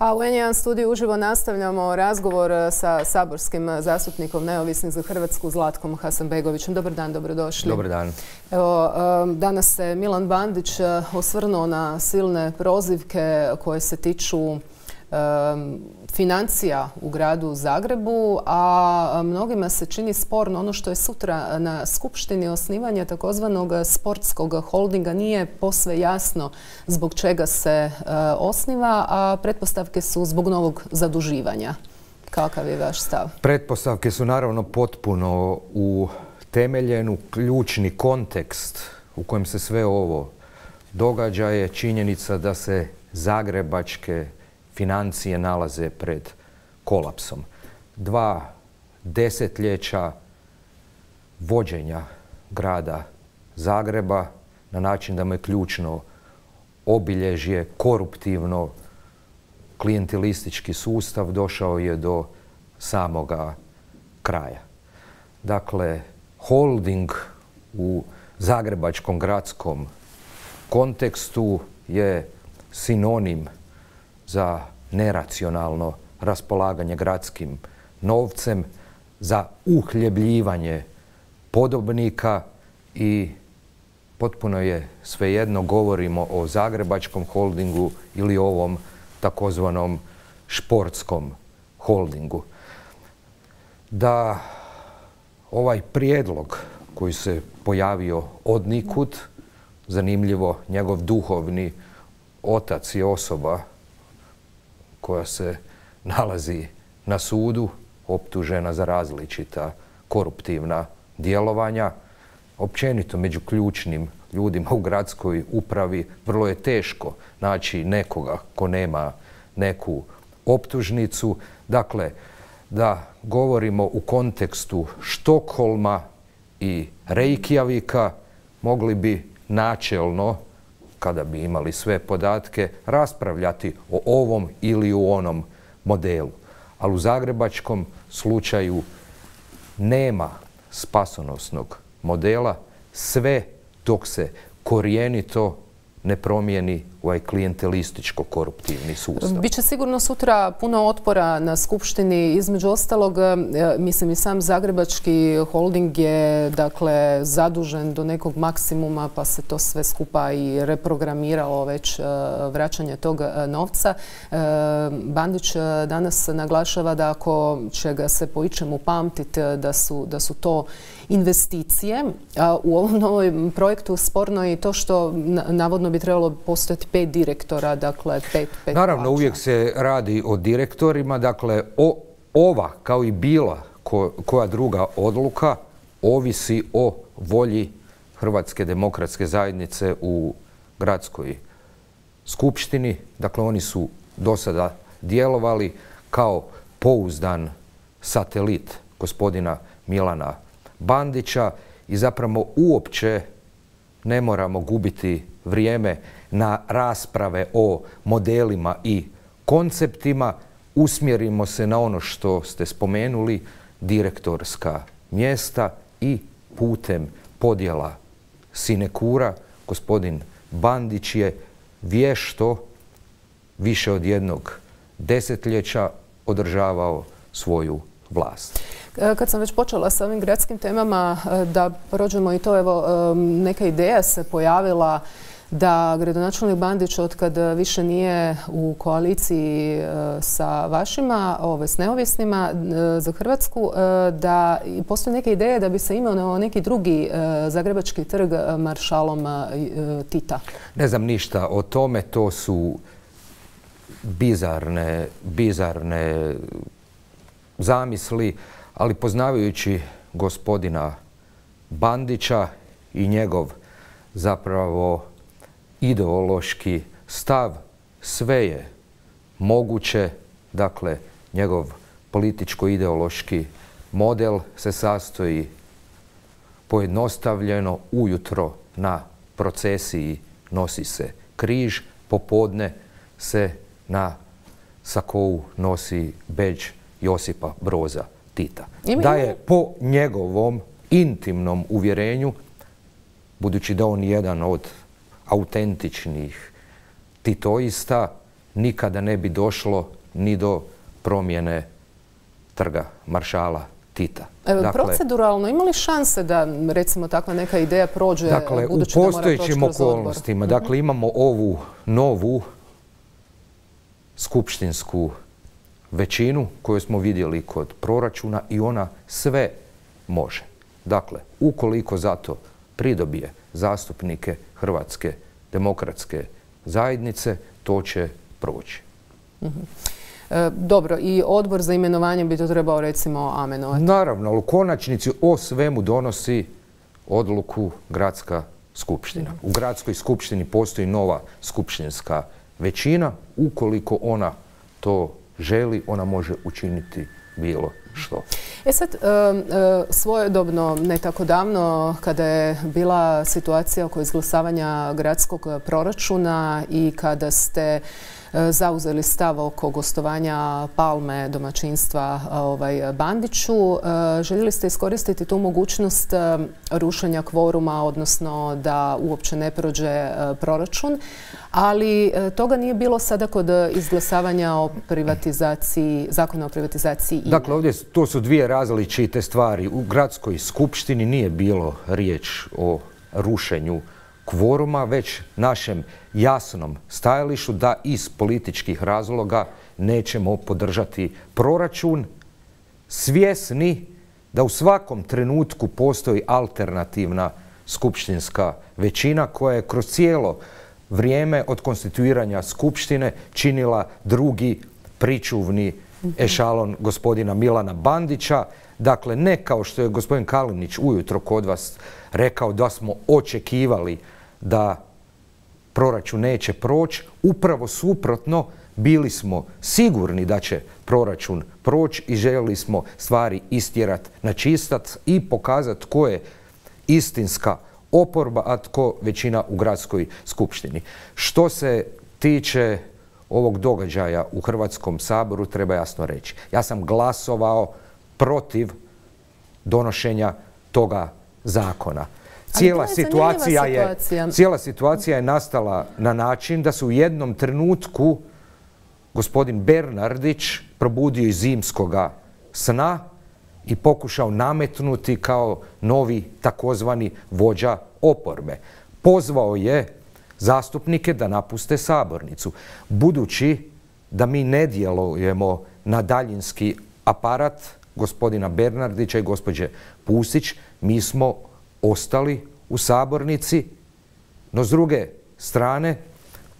A u N1 studiju uživo nastavljamo razgovor sa saborskim zastupnikom Neovisnih za Hrvatsku Zlatkom Hasanbegovićem. Dobar dan, dobrodošli. Dobar dan. Evo, danas se Milan Bandić osvrnuo na silne prozivke koje se tiču financija u gradu Zagrebu, a mnogima se čini sporno ono što je sutra na skupštini osnivanje takozvanog sportskog holdinga. Nije posve jasno zbog čega se osniva, a pretpostavke su zbog novog zaduživanja. Kakav je vaš stav? Pretpostavke su naravno potpuno utemeljene u ključni kontekst u kojem se sve ovo događa je činjenica da se zagrebačke financije nalaze pred kolapsom. 2 desetljeća vođenja grada Zagreba na način da mu je ključno obilježje koruptivno klijentelistički sustav došao je do samoga kraja. Dakle, holding u zagrebačkom gradskom kontekstu je sinonim za neracionalno raspolaganje gradskim novcem, za uhljebljivanje podobnika i potpuno je svejedno govorimo o zagrebačkom holdingu ili ovom takozvanom športskom holdingu. Da ovaj prijedlog koji se pojavio odnikud, zanimljivo, njegov duhovni otac je osoba koja se nalazi na sudu, optužena za različita koruptivna djelovanja. Općenito među ključnim ljudima u gradskoj upravi vrlo je teško naći nekoga ko nema neku optužnicu. Dakle, da govorimo u kontekstu Štokholma i Reykjavika, mogli bi načelno, kada bi imali sve podatke, raspravljati o ovom ili u onom modelu. Ali u zagrebačkom slučaju nema spasonosnog modela sve dok se korijenito ne promijeni ovaj klijentelističko-koruptivni sustav. Biće sigurno sutra puno otpora na skupštini. Između ostalog, mislim i sam zagrebački holding je dakle zadužen do nekog maksimuma, pa se to sve skupa i reprogramiralo već vraćanje tog novca. Bandić danas naglašava da ako će ga se po ičemu pamtiti da su to investicije. U ovom novom projektu sporno je i to što navodno bi trebalo postojati 5 direktora, dakle 5 Naravno, plaća. uvijek se radi o direktorima, dakle ova kao i bila koja druga odluka ovisi o volji Hrvatske demokratske zajednice u gradskoj skupštini. Dakle, oni su do sada djelovali kao pouzdan satelit gospodina Milana Bandića i zapravo uopće ne moramo gubiti vrijeme na rasprave o modelima i konceptima. Usmjerimo se na ono što ste spomenuli, direktorska mjesta i putem podjela sinekura gospodin Bandić je vješto više od 1 desetljeća održavao svoju vlast. Kad sam već počela sa ovim gradskim temama, da prođemo i to, evo, neka ideja se pojavila da gradonačelnik Bandić, otkad više nije u koaliciji sa vašima, s neovisnima za Hrvatsku, da postoji neka ideja da bi se imao neki drugi zagrebački trg maršalom Tita. Ne znam ništa o tome, to su bizarne zamisli, ali poznavajući gospodina Bandića i njegov zapravo ideološki stav, sve je moguće. Dakle, njegov političko-ideološki model se sastoji pojednostavljeno ujutro na procesiji nosi se križ, popodne se na sakou nosi bedž Josipa Broza Tita. Da je po njegovom intimnom uvjerenju, budući da on je jedan od autentičnih titoista, nikada ne bi došlo ni do promjene trga maršala Tita. Proceduralno, ima li šanse da, recimo, takva neka ideja prođe, dakle, budući da mora proći kroz odbor? U postojećim okolnostima, dakle, imamo ovu novu skupštinsku većinu koju smo vidjeli kod proračuna i ona sve može. Dakle, ukoliko zato pridobije zastupnike Hrvatske demokratske zajednice, to će proći. Dobro, i odbor za imenovanje bi to trebao, recimo, amenovati? Naravno, ali u konačnici o svemu donosi odluku gradska skupština. U gradskoj skupštini postoji nova skupštinska većina. Ukoliko ona to želi, ona može učiniti bilo što. Sad, svojedobno, ne tako davno, kada je bila situacija oko izglasavanja gradskog proračuna i kada ste zauzeli stav oko gostovanja Palme domaćinstva Bandiću, željeli ste iskoristiti tu mogućnost rušenja kvoruma, odnosno da uopće ne prođe proračun, ali toga nije bilo sada kod izglasavanja o privatizaciji, zakona o privatizaciji INA-e. Dakle, ovdje to su dvije različite stvari. U gradskoj skupštini nije bilo riječ o rušenju kvoruma, već našem jasnom stajalištu da iz političkih razloga nećemo podržati proračun, svjesni da u svakom trenutku postoji alternativna skupštinska većina koja je kroz cijelo vrijeme od konstituiranja skupštine činila drugi pričuvni ešalon gospodina Milana Bandića. Dakle, ne kao što je gospodin Kalinić ujutro kod vas rekao da smo očekivali da proračun neće proći. Upravo suprotno, bili smo sigurni da će proračun proći i željeli smo stvari istjerati na čistac i pokazati tko je istinska oporba, a tko većina u gradskoj skupštini. Što se tiče ovog događaja u Hrvatskom saboru, treba jasno reći. Ja sam glasovao protiv donošenja toga zakona. Cijela situacija je nastala na način da se u jednom trenutku gospodin Bernardić probudio iz zimskoga sna i pokušao nametnuti kao novi takozvani vođa oporbe. Pozvao je zastupnike da napuste sabornicu. Budući da mi ne djelujemo na daljinski aparat gospodina Bernardića i gospođe Pusić, mi smo ostali u sabornici, no s druge strane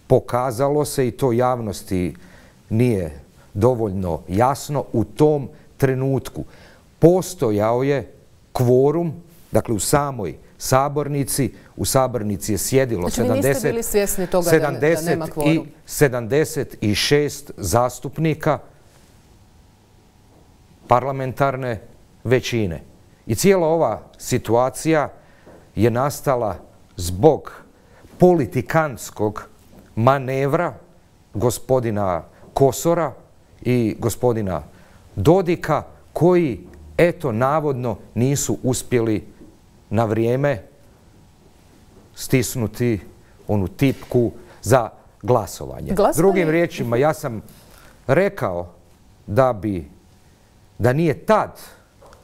pokazalo se, i to javnosti nije dovoljno jasno, u tom trenutku postojao je kvorum, dakle u samoj sabornici, u sabornici je sjedilo 76 zastupnika parlamentarne većine. I cijela ova situacija je nastala zbog politikantskog manevra gospodina Kosora i gospodina Dodika, koji, eto, navodno nisu uspjeli na vrijeme stisnuti onu tipku za glasovanje. Drugim riječima, ja sam rekao da nije tad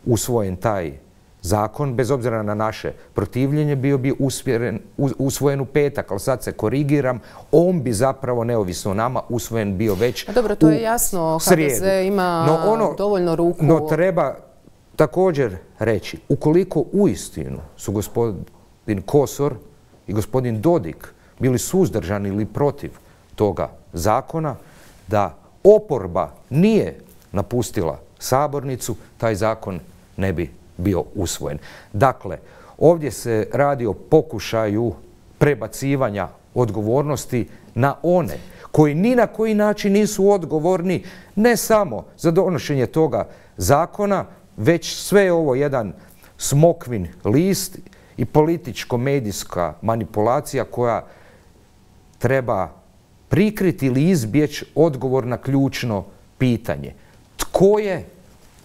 usvojen taj zakon, bez obzira na naše protivljenje, bio bi usvojen u petak, ali sad se korigiram, on bi zapravo, neovisno o nama, usvojen bio već u srijedu. Dobro, to je jasno, HDZ ima dovoljno ruku. No treba također reći, ukoliko uistinu su gospodin Kosor i gospodin Dodik bili suzdržani ili protiv toga zakona, da oporba nije napustila sabornicu, taj zakon ne bi bio usvojen. Dakle, ovdje se radi o pokušaju prebacivanja odgovornosti na one koji ni na koji način nisu odgovorni ne samo za donošenje toga zakona, već sve je ovo jedan smokvin list i političko-medijska manipulacija koja treba prikriti ili izbjeći odgovor na ključno pitanje. Tko je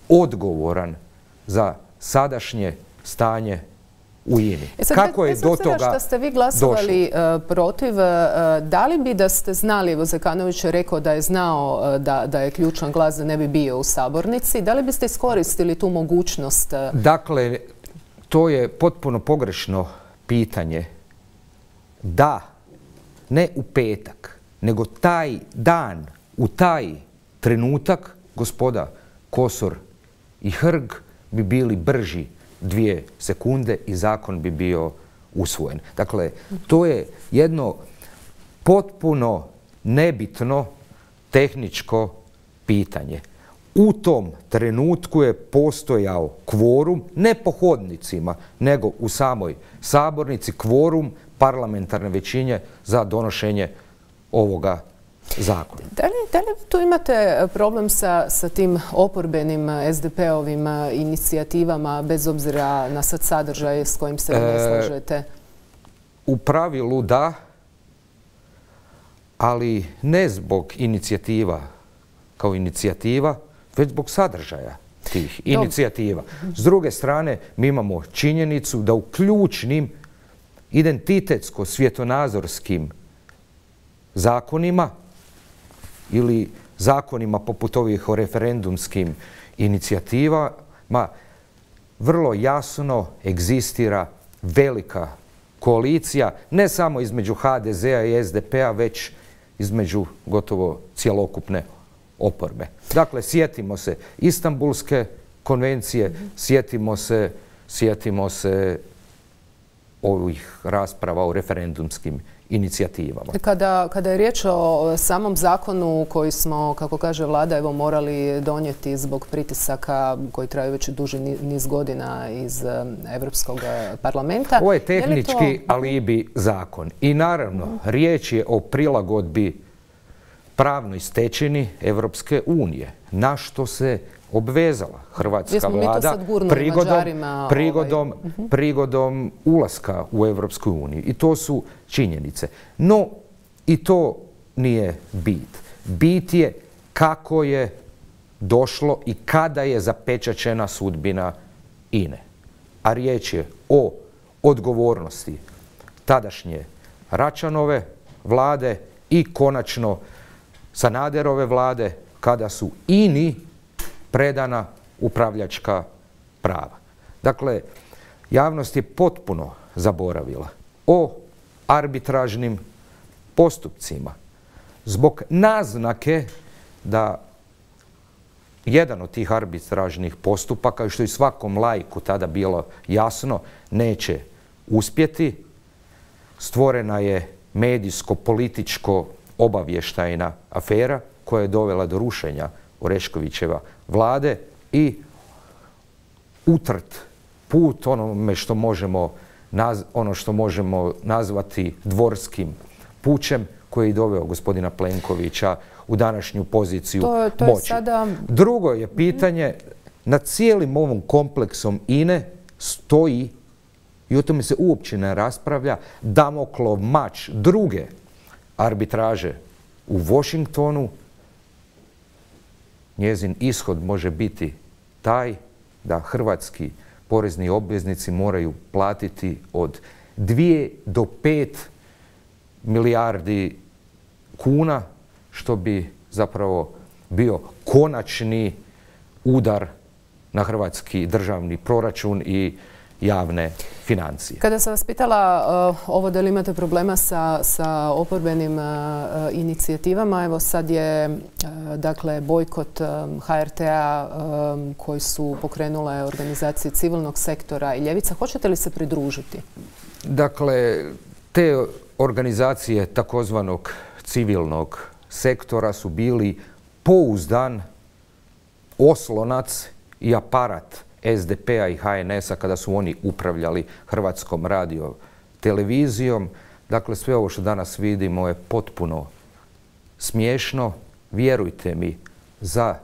odgovoran za sadašnje stanje u INI. Kako je do toga što ste vi glasovali protiv, da li bi da ste znali, evo Zekanović je rekao da je znao da je ključan glas da ne bi bio u sabornici, da li biste iskoristili tu mogućnost? Dakle, to je potpuno pogrešno pitanje. Da, ne u petak, nego taj dan, u taj trenutak, gospoda Kosor i Hrg bi bili brži 2 sekunde i zakon bi bio usvojen. Dakle, to je jedno potpuno nebitno tehničko pitanje. U tom trenutku je postojao kvorum, ne po hodnicima, nego u samoj sabornici, kvorum parlamentarne većine za donošenje ovoga zakona. Da li tu imate problem sa tim oporbenim SDP-ovim inicijativama, bez obzira na sad sadržaj s kojim se ne slažete? U pravilu da, ali ne zbog inicijativa kao inicijativa, već zbog sadržaja tih inicijativa. S druge strane, mi imamo činjenicu da u ključnim identitetsko-svjetonazorskim zakonima ili zakonima poput ovih o referendumskim inicijativama vrlo jasno egzistira velika koalicija, ne samo između HDZ-a i SDP-a, već između gotovo cjelokupne oporbe. Dakle, sjetimo se Istanbulske konvencije, sjetimo se ovih rasprava o referendumskim inicijativama. Kada je riječ o samom zakonu koji smo, kako kaže vlada, evo morali donijeti zbog pritisaka koji traju već duži niz godina iz Europskog parlamenta. Ovo je tehnički alibi zakon. I naravno, riječ je o prilagodbi pravnoj stečeni Evropske unije, na što se obvezala hrvatska vlada prigodom ulaska u Evropsku uniju. I to su činjenice. No, i to nije bit. Bit je kako je došlo i kada je zapečaćena sudbina INE. A riječ je o odgovornosti tadašnje Račanove vlade i konačno Sanaderove vlade kada su INI predana upravljačka prava. Dakle, javnost je potpuno zaboravila o arbitražnim postupcima zbog naznake da jedan od tih arbitražnih postupaka, što je svakom laiku tada bilo jasno, neće uspjeti. Stvorena je medijsko-političko obavještajna afera koja je dovela do rušenja Oreškovićeva vlade i utrt put ono što možemo nazvati dvorskim pučem koji je doveo gospodina Plenkovića u današnju poziciju moći. Drugo je pitanje, nad cijelim ovom kompleksom INE stoji, i o tome se uopće ne raspravlja, Damoklov mač druge arbitraže u Washingtonu. Njezin ishod može biti taj da hrvatski porezni obveznici moraju platiti od 2 do 5 milijardi kuna, što bi zapravo bio konačni udar na hrvatski državni proračun i javne financije. Kada sam vas pitala ovo da li imate problema sa oporbenim inicijativama, evo sad je dakle bojkot HRT-a koji su pokrenule organizacije civilnog sektora i ljevica. Hoćete li se pridružiti? Dakle, te organizacije takozvanog civilnog sektora su bili pouzdan oslonac i aparat SDP-a i HNS-a kada su oni upravljali Hrvatskom radiotelevizijom. Dakle, sve ovo što danas vidimo je potpuno smiješno. Vjerujte mi, za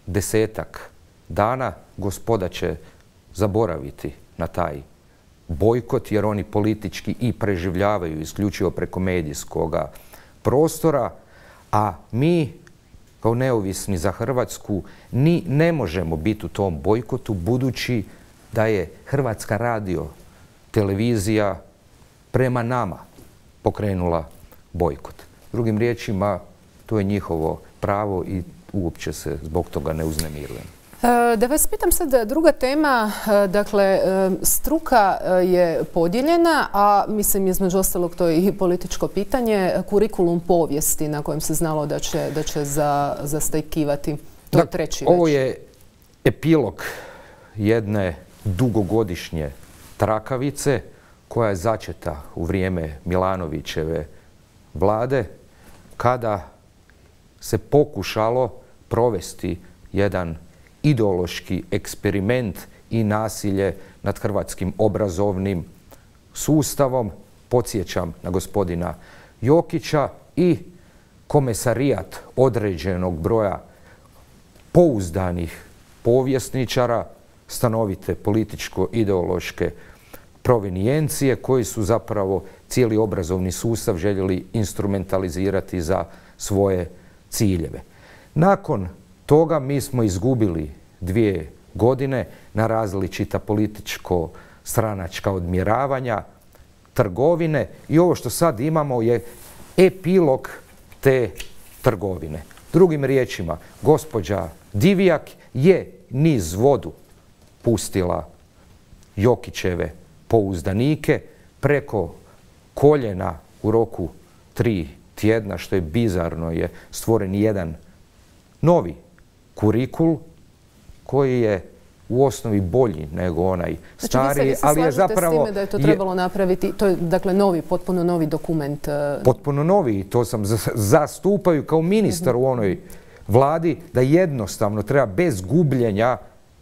10-ak dana gospoda će zaboraviti na taj bojkot, jer oni politički i preživljavaju isključivo preko medijskog prostora, a mi kao neovisni za Hrvatsku ni ne možemo biti u tom bojkotu, budući da je Hrvatska televizija prema nama pokrenula bojkot. Drugim riječima, to je njihovo pravo i uopće se zbog toga ne uznemirujem. Da vas pitam sad, druga tema, dakle, struka je podijeljena, a mislim između ostalog to je i političko pitanje, kurikulum povijesti na kojem se znalo da će zastajkivati. To je treći već. Ovo je epilog jedne dugogodišnje trakavice koja je začeta u vrijeme Milanovićeve vlade, kada se pokušalo provesti jedan ideološki eksperiment i nasilje nad hrvatskim obrazovnim sustavom. Podsjećam na gospodina Jokića i komesarijat određenog broja pouzdanih povjesničara, stanovite političko-ideološke provenijencije koji su zapravo cijeli obrazovni sustav željeli instrumentalizirati za svoje ciljeve. Nakon toga mi smo izgubili 2 godine na različita političko-stranačka odmjeravanja, trgovine i ovo što sad imamo je epilog te trgovine. Drugim riječima, gospođa Divjak je niz vodu pustila Jokićeve pouzdanike preko koljena u roku 3 tjedna, što je bizarno, je stvoren jedan novi kurikul koji je u osnovi bolji nego onaj stariji, vi se ali je zapravo... s time da je to trebalo napraviti, to je dakle novi, potpuno novi dokument? Potpuno novi, i to sam zastupaju kao ministar u onoj vladi, da jednostavno treba bez gubljenja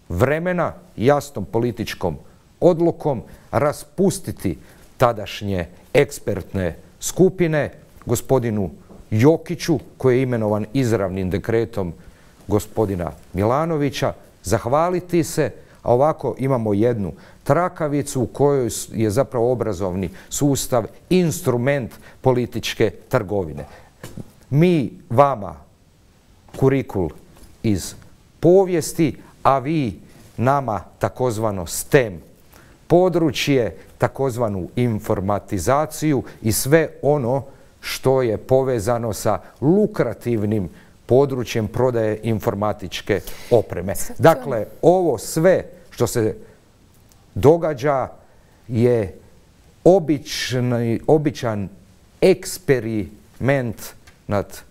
vremena, jasnom političkom odlukom raspustiti tadašnje ekspertne skupine, gospodinu Jokiću, koji je imenovan izravnim dekretom gospodina Milanovića, zahvaliti se, a ovako imamo jednu trakavicu u kojoj je zapravo obrazovni sustav instrument političke trgovine. Mi vama kurikul iz povijesti, a vi nama takozvano STEM područje, takozvanu informatizaciju i sve ono što je povezano sa lukrativnim područjem prodaje informatičke opreme. Dakle, ovo sve što se događa je običan eksperiment nad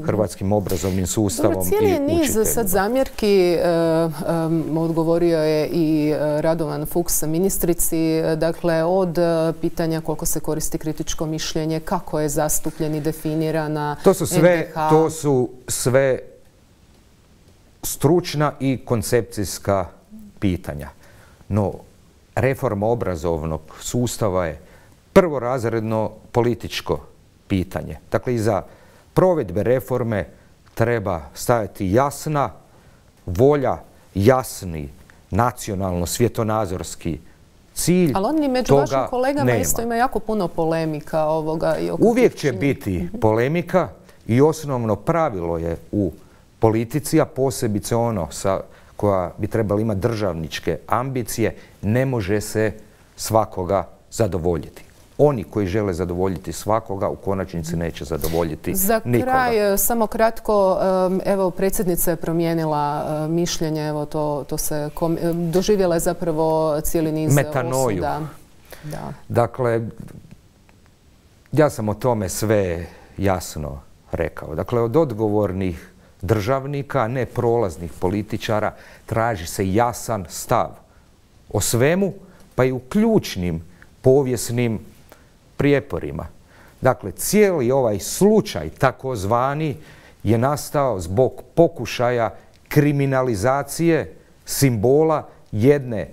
hrvatskim obrazovnim sustavom i učiteljima. Cijeli niz sad zamjerki odgovorio je i Radovan Fuchs ministrici, dakle od pitanja koliko se koristi kritičko mišljenje, kako je zastupljen i definirana NDH. To su sve stručna i koncepcijska pitanja. No, reforma obrazovnog sustava je prvorazredno političko pitanje. Dakle, iza provedbe reforme treba stajati jasna volja, jasni nacionalno-svjetonazorski cilj. Ali oni među vašim kolegama isto ima jako puno polemika ovoga. Uvijek će biti polemika i osnovno pravilo je u politici, a posebice ono koja bi trebala imati državničke ambicije, ne može se svakoga zadovoljiti. Oni koji žele zadovoljiti svakoga u konačnici neće zadovoljiti nikoga. Za kraj, samo kratko, evo predsjednica je promijenila mišljenje, evo to se doživjela je zapravo cijeli niz osuda. Dakle, ja sam o tome sve jasno rekao. Dakle, od odgovornih državnika, ne prolaznih političara, traži se jasan stav o svemu, pa i u ključnim povijesnim prijeporima. Dakle, cijeli ovaj slučaj takozvani je nastao zbog pokušaja kriminalizacije simbola jedne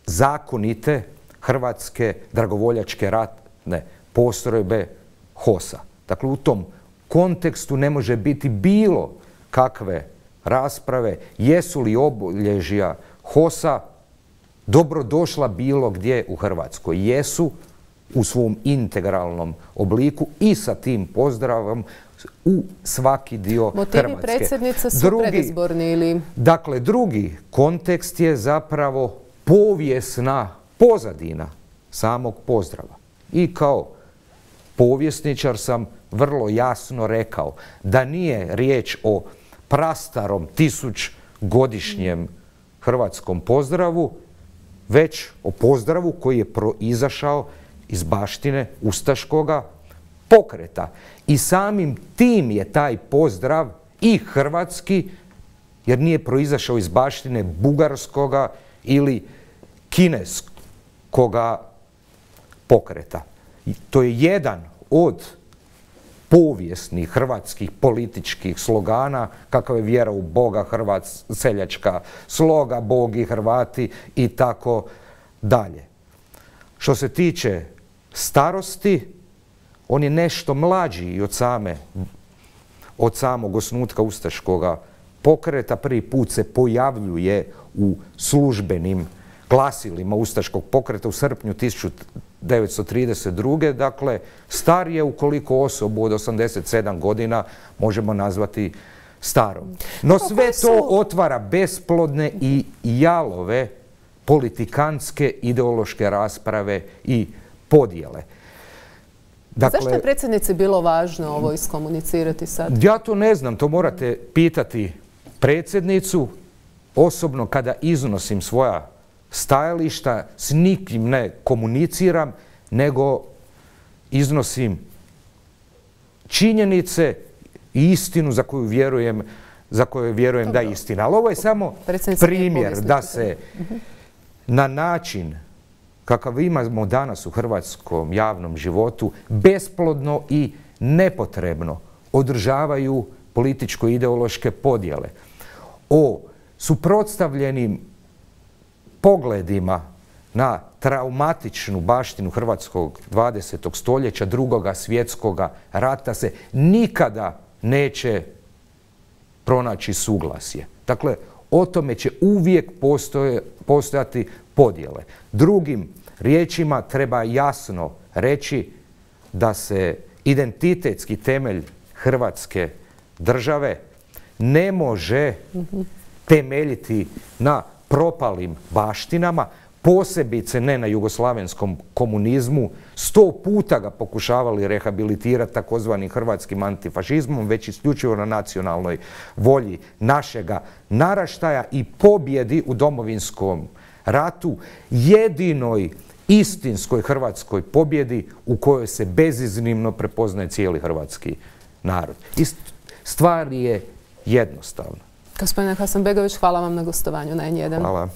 zakonite hrvatske dragovoljačke ratne postrojbe HOS-a. Dakle, u tom kontekstu ne može biti bilo kakve rasprave jesu li obilježja HOS-a dobrodošla bilo gdje u Hrvatskoj. Jesu u svom integralnom obliku i sa tim pozdravom u svaki dio Hrvatske. Motivi predsjednice su predizborni ili... Dakle, drugi kontekst je zapravo povijesna pozadina samog pozdrava. I kao povjesničar sam vrlo jasno rekao da nije riječ o prastarom 1000-godišnjem hrvatskom pozdravu, već o pozdravu koji je proizašao iz baštine ustaškoga pokreta. I samim tim je taj pozdrav i hrvatski, jer nije proizašao iz baštine bugarskoga ili kineskoga pokreta. I to je jedan od povijesnih hrvatskih političkih slogana, kakav je vjera u Boga, seljačka sloga, Bog i Hrvati i tako dalje. Što se tiče starosti, on je nešto mlađi i od samog osnutka ustaškoga pokreta. Prvi put se pojavljuje u službenim glasilima ustaškog pokreta u srpnju 1932. Dakle, star je ukoliko osobu od 87 godina možemo nazvati starom. No sve to otvara besplodne i jalove politikantske ideološke rasprave i podjele. Dakle, zašto je predsjednici bilo važno ovo iskomunicirati sad? Ja to ne znam, to morate pitati predsjednicu. Osobno kada iznosim svoja stajališta s nikim ne komuniciram, nego iznosim činjenice i istinu za koju vjerujem da je istina. Ali ovo je samo primjer da se na način kakav imamo danas u hrvatskom javnom životu besplodno i nepotrebno održavaju političko-ideološke podjele. O suprotstavljenim pogledima na traumatičnu baštinu hrvatskog 20. stoljeća, Drugoga svjetskoga rata se nikada neće pronaći suglasje. Dakle, o tome će uvijek postojati podjele. Drugim riječima treba jasno reći da se identitetski temelj Hrvatske države ne može temeljiti na propalim baštinama, posebice ne na jugoslavenskom komunizmu. 100 puta ga pokušavali rehabilitirati takozvanim hrvatskim antifašizmom, već isključivo na nacionalnoj volji našega naraštaja i pobjedi u Domovinskom ratu, jedinoj istinskoj hrvatskoj pobjedi u kojoj se beziznimno prepoznaje cijeli hrvatski narod. I stvar je jednostavna. Gospodine Hasanbegović, hvala vam na gostovanju na N1. Hvala.